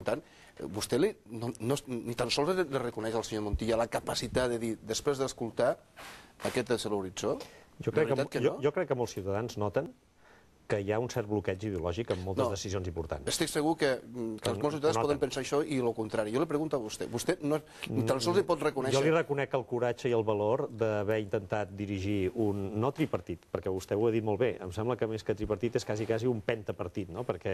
Per tant, vostè ni tan sols li reconeix al senyor Montilla la capacitat de dir, després d'escoltar, aquest és l'horitzó? Jo crec que molts ciutadans noten que hi ha un cert bloqueig ideològic en moltes decisions importants. Estic segur que molts ciutadans poden pensar això i el contrari. Jo li pregunto a vostè. Vostè ni tan sols li pot reconèixer... Jo li reconec el coratge i el valor d'haver intentat dirigir un... no tripartit, perquè vostè ho ha dit molt bé. Em sembla que més que tripartit és quasi un pentapartit, no? Perquè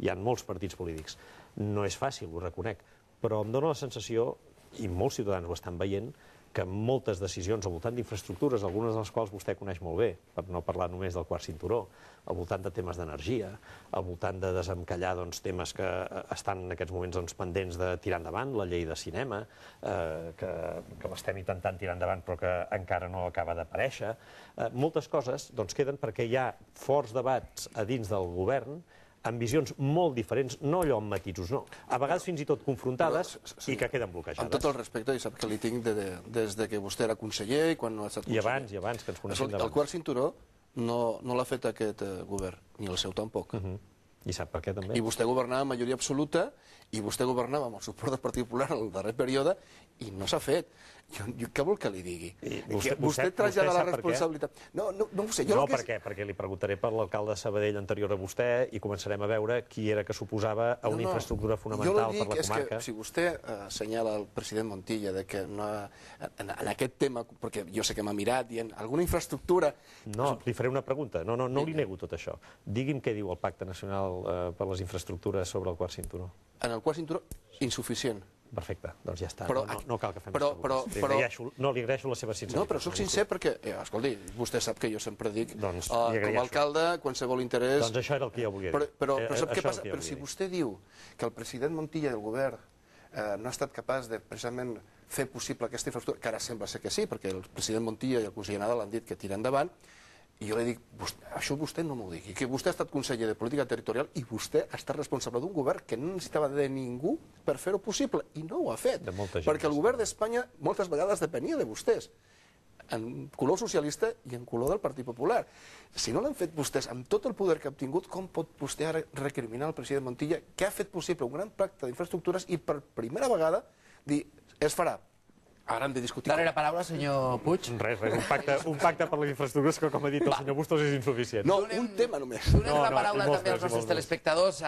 hi ha molts partits polítics. No és fàcil, ho reconec. Però em dóna la sensació, i molts ciutadans ho estan veient, que moltes decisions al voltant d'infraestructures, algunes de les quals vostè coneix molt bé, per no parlar només del quart cinturó, al voltant de temes d'energia, al voltant de desencallar temes que estan en aquests moments pendents de tirar endavant, la llei de cinema, que l'estem intentant tirar endavant però que encara no acaba d'aparèixer. Moltes coses queden perquè hi ha forts debats a dins del govern amb visions molt diferents, no allò amb matisos, no. A vegades fins i tot confrontades i que queden bloquejades. Amb tot el respecte, i sap que li tinc des que vostè era conseller i quan no ha estat conseller. I abans, que ens coneixem d'abans. El quart cinturó no l'ha fet aquest govern, ni el seu tampoc. I sap per què també? I vostè governava amb majoria absoluta, i vostè governava amb el suport del Partit Popular en el darrer període, i no s'ha fet. Què vol que li digui? Vostè trasllada la responsabilitat... No ho sé. No, per què? Perquè li preguntaré per l'alcalde de Sabadell anterior a vostè i començarem a veure qui era que suposava a una infraestructura fonamental per la comarca. Jo li dic que si vostè assenyala al president Montilla que en aquest tema, perquè jo sé que m'ha mirat dient alguna infraestructura... No, li faré una pregunta. No li nego tot això. Digui'm què diu el Pacte Nacional per les Infraestructures sobre el quart cinturó. En el quart cinturó, insuficient. Perfecte, doncs ja està. No cal que fem més preguntes. No, li agraeixo la seva sinceritat. No, però soc sincer perquè, escolti, vostè sap que jo sempre dic, com a alcalde, qualsevol interès... Doncs això era el que jo volia dir. Però sap què passa? Però si vostè diu que el president Montilla del govern no ha estat capaç de precisament fer possible aquesta infraestructura, que ara sembla ser que sí, perquè el president Montilla i el conseller Nadal han dit que tira endavant, i jo li dic, això vostè no m'ho digui, que vostè ha estat conseller de Política Territorial i vostè ha estat responsable d'un govern que no necessitava de ningú per fer-ho possible, i no ho ha fet, perquè el govern d'Espanya moltes vegades depenia de vostès, en color socialista i en color del Partit Popular. Si no l'han fet vostès amb tot el poder que ha obtingut, com pot vostè ara recriminar al president Montilla que ha fet possible un gran pacte d'infraestructures i per primera vegada dir, es farà? Ara hem de discutir... Darrera paraula, senyor Puig. Res, un pacte per les infraestructures que, com ha dit el senyor Bustos, és insuficient. No, un tema només. Donem la paraula també als nostres telespectadors.